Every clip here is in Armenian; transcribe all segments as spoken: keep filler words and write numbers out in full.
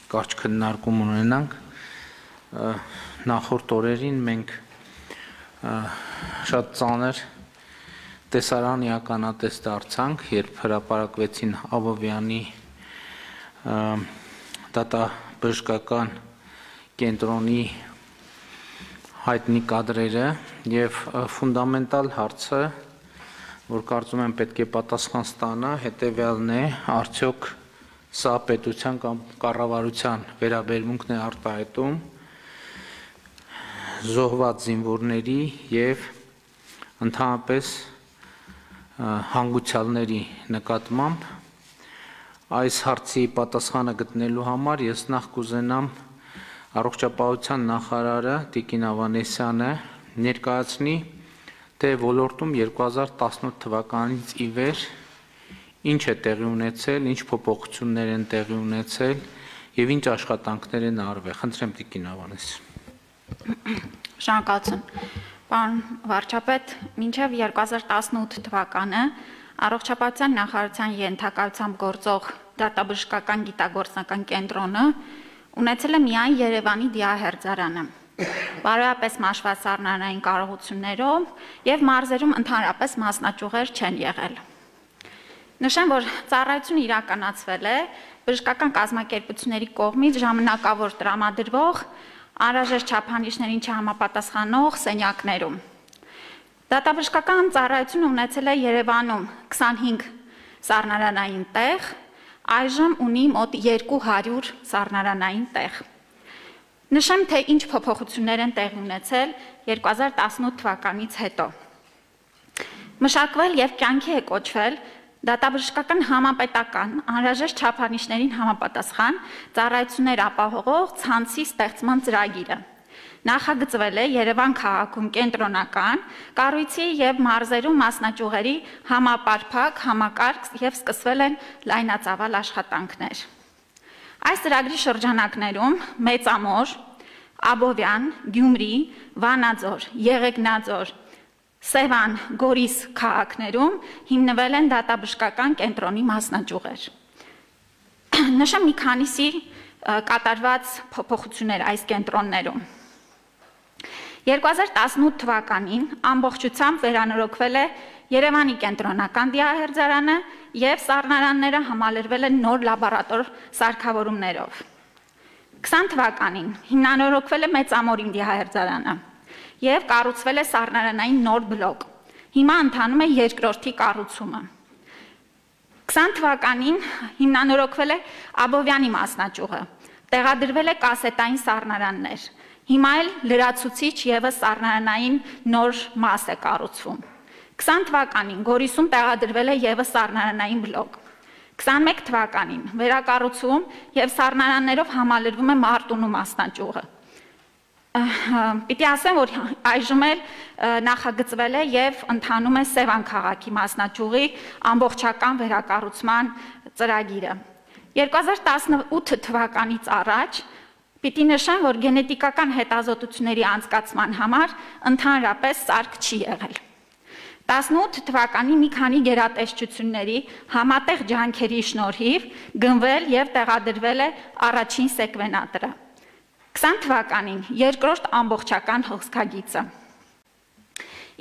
կարճ քննարկում ունենանք։ Նախորդ օրերին մենք շատ ծանր տեսարանի ականատես դարձանք, երբ հրապարակվեցին Աբովյանի դատաբժշկական կենտրոնի հայտնի կադրերը եւ ֆունդամենտալ հարցը, որ կարծում եմ պետք է պատասխան ստանա, հետեւյալն է, արդյոք սա պետության կամ կառավարության վերաբերմունքն է արտահայտում զոհված զինվորների եւ ընդհանրապես հանգուցյալների նկատմամբ։ Այս հարցի պատասխանը գտնելու համար ես նախ կուզենամ առողջապահության նախարարը Տիկին Ավանեսյանը ներկայացնի, թե ոլորտում երկու հազար տասնութ թվականից ի վեր ինչ է տեղի ունեցել, ինչ փոփոխություններ են տեղի ունեցել եւ ինչ աշխատանքներ են արվել։ Խնդրեմ Տիկին Ավանեսյան։ Շնորհակալություն։ Պարոն վարչապետ, մինչև երկու հազար տասնութ թվականը առողջապահության նախարարության ենթակայությամբ գործող դատաբժշկական գիտագործնական կենտրոնը ունեցել է միայն Երևանի դիահերձարանը, բարոյապես մաշված սառնարանային կարողություններով եւ մարզերում ընդհանրապես մասնաճյուղեր չեն եղել։ Նշեմ, որ ծառայությունը իրականացվել է բժշկական կազմակերպությունների կողմից ժամանակավոր տրամադրվող անհրաժեշտ չափանիշներին չհամապատասխանող սենյակներում։ Դատաբժշկական ծառայությունը ունեցել է Երևանում քսանհինգ սառնարանային տեղ, այժմ ունի մոտ երկու հարյուր սառնարանային տեղ։ Նշեմ, թե ինչ փոփոխություններ են տեղի ունեցել երկու հազար տասնութ թվականից հետո։ Մշակվել եւ կյանքի է կոչվել դատաբժշկական համապետական անհրաժեշտ չափանիշներին համապատասխան ծառայություններ ապահովող ցանցի ստեղծման ծրագիրը։ Նախագծվել է Երևան քաղաքում կենտրոնական կառույցի եւ մարզերում մասնաճյուղերի համապարփակ համակարգ եւ սկսվել են լայնածավալ աշխատանքներ։ Այս ծրագրի շրջանակներում Մեծամոր, Աբովյան, Գյումրի, Վանաձոր, Եղեգնաձոր, Սևան, Գորիս քաղաքներում հիմնվել են դատաբժշկական կենտրոնի մասնաճյուղեր։ Նշեմ մի քանիսի կատարված փոփոխություններ այս կենտրոններում։ երկու հազար տասնութ թվականին ամբողջությամբ վերանորոգվել է Երևանի կենտրոնական դիահերձարանը եւ սառնարանները համալրվել են նոր լաբորատոր սարքավորումներով։ քսան թվականին հիմնանորոգվել է Մեծամորին դիահերձարանը եւ կառուցվել է սառնարանային նոր բլոկ։ Հիմա ընթանում է երկրորդի կառուցումը։ քսան թվականին հիմնանորոգվել է Աբովյանի մասնաճյուղը, տեղադրվել է կասետային սառնարաններ։ Հիմա էլ լրացուցիչ եւս սառնարանային նոր մաս է կառուցվում։ քսան թվականին Գորիսում տեղադրվել է եւս սառնարանային բլոկ։ քսանմեկ թվականին վերակառուցում եւ սառնարաններով համալրվում է Մարտունու մասնաճյուղը։ Պիտի ասեմ, որ այժմ էլ նախագծվել է եւ ընթանում է Սևան քաղաքի մասնաճյուղի ամբողջական վերակառուցման ծրագիրը։ երկու հազար տասնութ թվականից առաջ պիտի նշեմ, որ գենետիկական հետազոտությունների անցկացման համար ընդհանրապես սարք չի եղել։ տասնութ թվականի մի քանի գերատեսչությունների համատեղ ջանքերի շնորհիվ գնվել եւ տեղադրվել է առաջին սեկվենատորը։ քսան թվականին երկրորդ ամբողջական հոսքագիծը։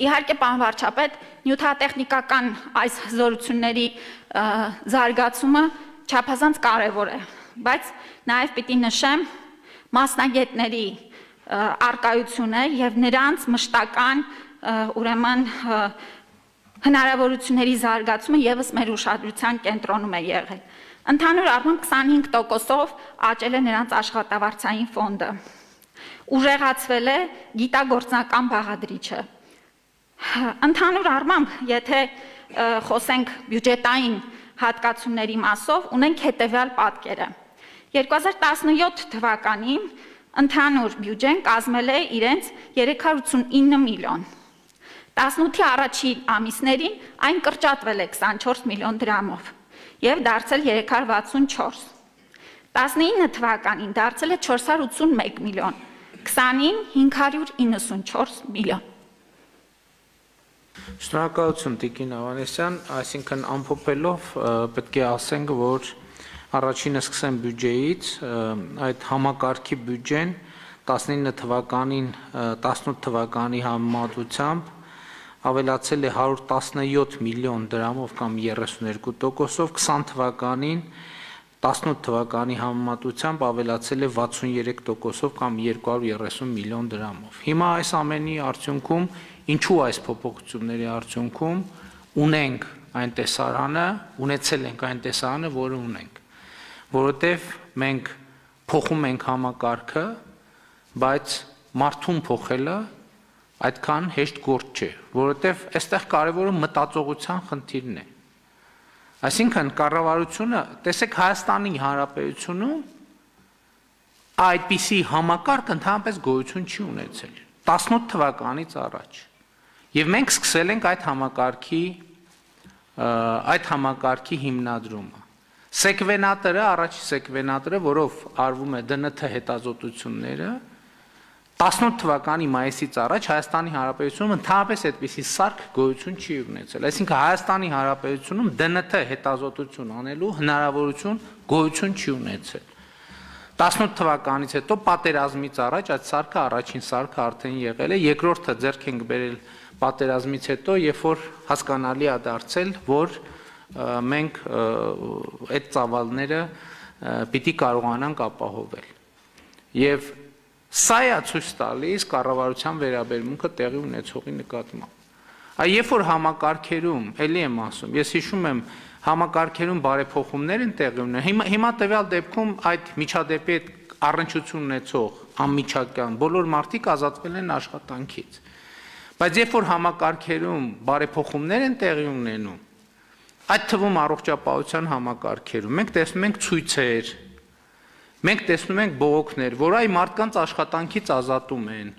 Իհարկե, պարոն վարչապետ, նյութատեխնիկական այս զորությունների զարգացումը չափազանց կարևոր է, բայց նաեւ պիտի նշեմ մասնագետների արկայությունը եւ նրանց մշտական ուրեմն հնարավորությունների զարգացումը եւս մեր ուշադրության կենտրոնում է եղել։ Ընդհանուր առմամբ քսանհինգ տոկոսով աճել է նրանց աշխատավարձային ֆոնդը։ Ուժեղացվել է գիտագործնական բաղադրիչը։ Ընդհանուր առմամբ, եթե խոսենք բյուջետային հատկացումների մասով, ունենք հետեւյալ պատկերը։ երկու հազար տասնյոթ թվականին ընդհանուր բյուջեն կազմել է իրենց երեք հարյուր ութսունինը միլիոն։ տասնութի առաջին ամիսներին այն կրճատվել է քսանչորս միլիոն դրամով եւ դարձել երեք հարյուր վաթսունչորս։ տասնինը թվականին դարձել է չորս հարյուր ութսունմեկ միլիոն, քսանին հինգ հարյուր իննսունչորս միլիոն։ Շնորհակալություն Տիկին Ավանեսյան, այսինքն ամփոփելով պետք է ասենք, որ Առաջինը սկսեմ բյուջեից, այդ համակարգի բյուջեն տասնինը թվականին, տասնութ թվականի համեմատությամբ ավելացել է հարյուր տասնյոթ միլիոն դրամով կամ երեսունյոթ տոկոսով, քսան թվականին տասնութ թվականի համեմատությամբ ավելացել է վաթսունյերեք տոկոսով կամ երկու հարյուր երեսուն միլիոն դրամով։ Հիմա այս ամենի արդյունքում, ինչու այս փոփոխությունների արդյունքում ունենք այն տեսարանը, ունեցել ենք այն տեսարանը, որը ունենք, որովհետև մենք փոխում ենք համակարգը, բայց մարդուն փոխելը այդքան հեշտ գործ չէ, որովհետև այստեղ կարևորը մտածողության խնդիրն է։ Այսինքն կառավարությունը, տեսեք Հայաստանի Հանրապետությունում այդպիսի համակարգ ընդհանրապես գոյություն չի ունեցել տասնութ թվականից առաջ։ Եվ մենք սկսել ենք այդ համակարգի այդ համակարգի հիմնադրումը։ Սեկվենատորը, առաջի սեկվենատորը, որով արվում է դե են թ հետազոտությունները, տասնութ թվականի մայիսից առաջ Հայաստանի Հանրապետությունում ընդհանրապես այդպիսի սարք գոյություն չի ունեցել։ Այսինքն Հայաստանի Հանրապետությունում դե են թ հետազոտություն անելու հնարավորություն գոյություն չի ունեցել։ տասնութ թվականից հետո պատերազմից առաջ այդ սարքը առաջին սարքը արդեն եղել է, երկրորդը ձեռք ենք բերել պատերազմից հետո, երբ որ հասկանալի է դարձել, որ մենք այդ ծավալները պիտի կարողանանք ապահովել։ Եվ սա է ցույց տալիս կառավարության վերաբերմունքը տեղի ունեցողի նկատմամբ։ Այ երբ որ համակարգերում, ելի եմ ասում, ես հիշում եմ համակարգերում բարեփոխումներ են տեղի ունենում, հիմա հիմա տվյալ դեպքում այդ միջադեպի հետ առնչություն ունեցող անմիջական բոլոր մարդիկ ազատվել են աշխատանքից։ Բայց երբ որ համակարգերում բարեփոխումներ են տեղի ունենում, այդ թվում առողջապահության համակարգերում, մենք տեսնում ենք ցույցեր, մենք տեսնում ենք բողոքներ, որ այ մարդկանց աշխատանքից ազատում են։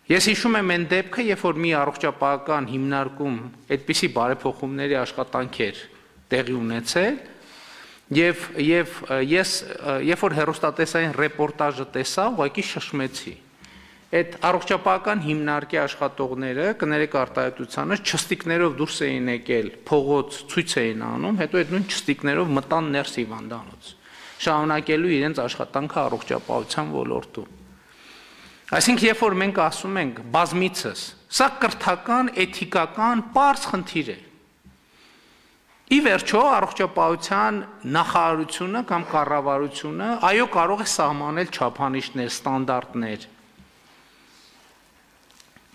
Ես հիշում եմ այն դեպքը, երբ որ մի առողջապահական հիմնարկում այդպիսի բարեփոխումների աշխատանք էր տեղի ունեցել, եւ եւ ես երբ որ հեռուստատեսային ռեպորտաժը տեսա, ուղղակի շշմեցի։ Այդ առողջապահական հիմնարկի աշխատողները, կներեք արտահայտությանը, չստիկներով դուրս էին եկել, փողոց ցույց էին անում, հետո այդ նույն չստիկներով մտան ներս հիվանդանոց, շարունակելու իրենց աշխատանքը առողջապահության ոլորտում։ Այսինքն, երբ որ մենք ասում ենք բազմիցս, սա կրթական, էթիկական, պարզ խնդիր է։ Ի վերջո, առողջապահության նախարարությունը կամ կառավարությունը, այո, կարող է սահմանել չափանիշներ, ստանդարտներ,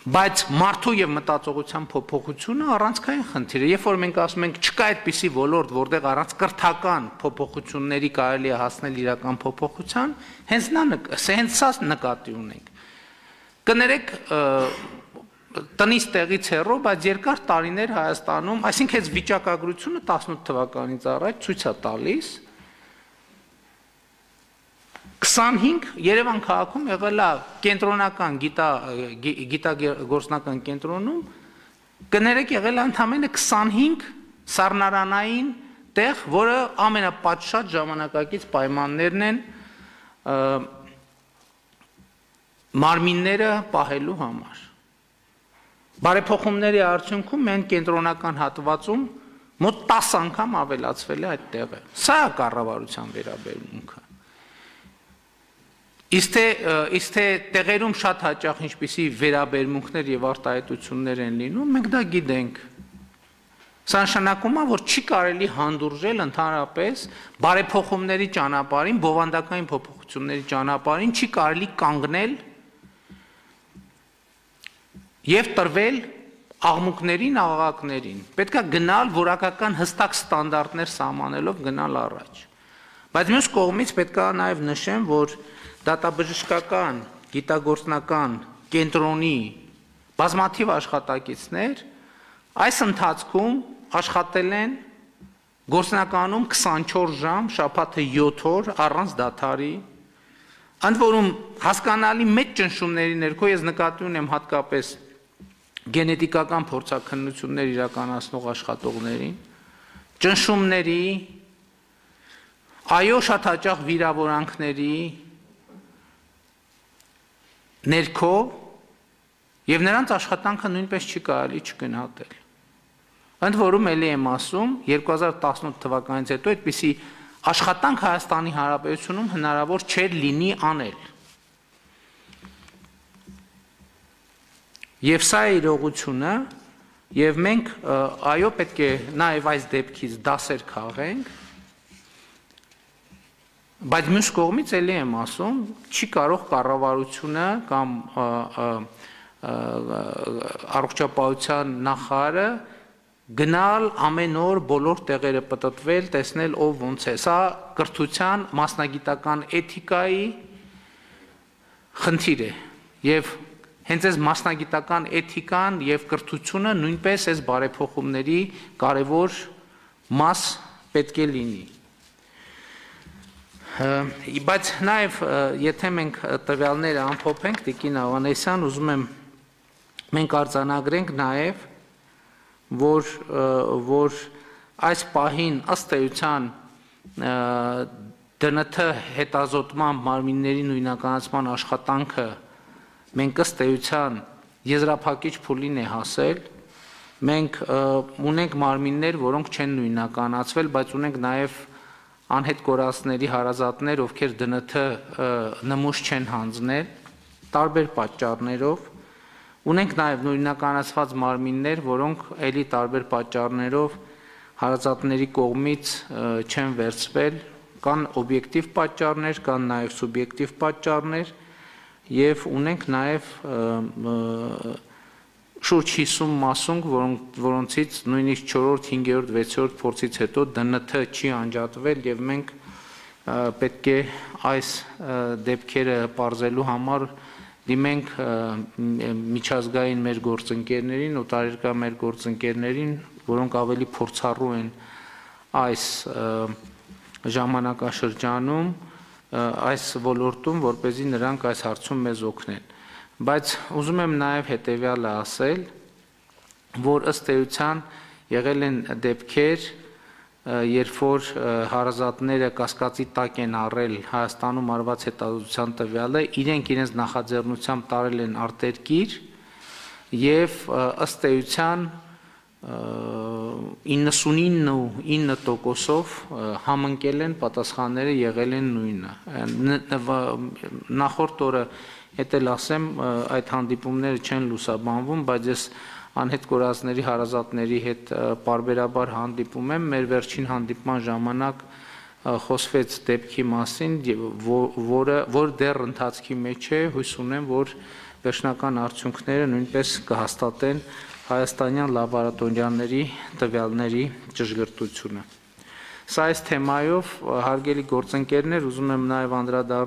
բայց մարդու եւ մտածողության փոփոխությունը առանցքային խնդիր է։ Երբ որ մենք ասում ենք չկա այդպիսի ոլորտ, որտեղ առանց կրթական փոփոխությունների կարելի է հասնել իրական փոփոխության, հենց նա հենց սա նկատի ունենք։ Կներեք տնից տեղից հեռու, բայց երկար տարիներ Հայաստանում, այսինքն այս վիճակագրությունը տասնութ թվականից առաջ ցույց է տալիս քսանհինգ Երևան քաղաքում եղել է կենտրոնական գիտագործնական կենտրոնում, կներեք եղել է ընդամենը քսանհինգ սառնարանային տեղ, որը ամենապատշաճ ժամանակակից պայմաններն են մարմինները պահելու համար։ Բարեփոխումների արդյունքում մենք կենտրոնական հատվածում մոտ տասը անգամ ավելացվել է այդ տեղը։ Սա է կառավարության վերաբերմունքը։ Իսկ թե տեղերում շատ հաճախ ինչպիսի վերաբերմունքներ եւ արտահայտություններ են լինում, մենք դա գիտենք։ Սա նշանակում է, որ չի կարելի հանդուրժել ընդհանրապես բարեփոխումների ճանապարհին, բովանդակային փոփոխությունների ճանապարհին, չի կարելի կանգնել եւ տրվել աղմուկներին, աղաղակներին։ Պետք է գնալ որակական հստակ ստանդարտներ սահմանելով գնալ առաջ։ Բայց մյուս կողմից պետք է նաեւ նշեմ, որ դատաբժշկական, գիտագործնական կենտրոնի բազմաթիվ աշխատակիցներ այս ընթացքում աշխատել են գործնականում քսանչորս ժամ, շաբաթը յոթ օր առանց դադարի, ընդ որում հասկանալի մեծ ճնշումների ներքո ես նկատի ունեմ հատկապես գենետիկական փորձաքննություններ իրականացնող աշխատողներին, ճնշումների, այո, շատ հաճախ վիրավորանքների ներքո եւ նրանց աշխատանքը նույնպես չի կարելի չգնահատել։ Ընդ որում էլի եմ ասում, երկու հազար տասնութ թվականից հետո այդպիսի աշխատանք Հայաստանի Հանրապետությունում հնարավոր չէր լինի անել։ Եվ սա է իրողությունը, եւ մենք այո պետք է նաեւ այս դեպքից դասեր քաղենք, բայց մյուս կողմից էլի եմ ասում, չի կարող կառավարությունը կամ առողջապահության նախարարը գնալ ամեն օր բոլոր տեղերը պտտվել, տեսնել ով ոնց է։ Սա կրթության մասնագիտական էթիկայի խնդիր է եւ հենց այս մասնագիտական էթիկան եւ կրթությունը նույնպես այս բարեփոխումների կարևոր մաս պետք է լինի։ Բայց նաեւ եթե մենք տվյալները ամփոփենք, Տիկին Ավանեսյան, ուզում եմ մենք արձանագրենք նաեւ որ որ այս պահին ըստ էության դը ըն թ հետազոտման մարմինների նույնականացման աշխատանքը մենք ըստ էության եզրափակիչ փուլին է հասել, մենք ունենք մարմիններ, որոնք չեն նույնականացվել, բայց ունենք նաև անհետ կորածների հարազատներ, ովքեր դը ըն թ նմուշ չեն հանձնել, տարբեր պատճառներով, ունենք նաև նույնականացված մարմիններ, որոնք էլի տարբեր պատճառներով հարազատների կողմից չեն վերցվել, կան օբյեկտիվ պատճառներ, կան նաև սուբյեկտիվ պատճառներ, եւ ունենք նաև շուրջ հիսուն մասունք, որոնցից նույնիսկ չորրորդ, հինգերորդ, վեցերորդ փորձից հետո դը ըն թ չի անջատվել եւ մենք պետք է այս դեպքերը պարզելու համար դիմենք միջազգային մեր գործընկերներին, օտարերկրյա մեր գործընկերներին, որոնք ավելի փորձառու են այս ժամանակաշրջանում այս ոլորտում, որպեսզի նրանք այս հարցում մեզ օգնեն։ Բայց ուզում եմ նաև հետևյալը ասել, որ ըստ էության եղել են դեպքեր, երբ որ հարազատները կասկածի տակ են առել Հայաստանում արված հետազոտության տվյալը, իրենք իրենց նախաձեռնությամբ տարել են արտերկիր եւ ըստ էության իննսունինը տոկոսով համընկել են պատասխանները եղել են նույնը։ Նախորդ օրը հետ էլ ասեմ, այդ հանդիպումները չեն լուսաբանվում, բայց ես անհետ կորածների հարազատների հետ պարբերաբար հանդիպում եմ, մեր վերջին հանդիպման ժամանակ խոսվեց դեպքի մասին, որը որ դեռ ընթացքի մեջ է, հույս ունեմ, որ վերջնական արդյունքները նույնպես կհաստատեն հայաստանյան լաբորատորիաների տվյալների ճշգրտությունը։ Սա այս թեմայով, հարգելի գործընկերներ, ուզում եմ նաև անդրադառնալ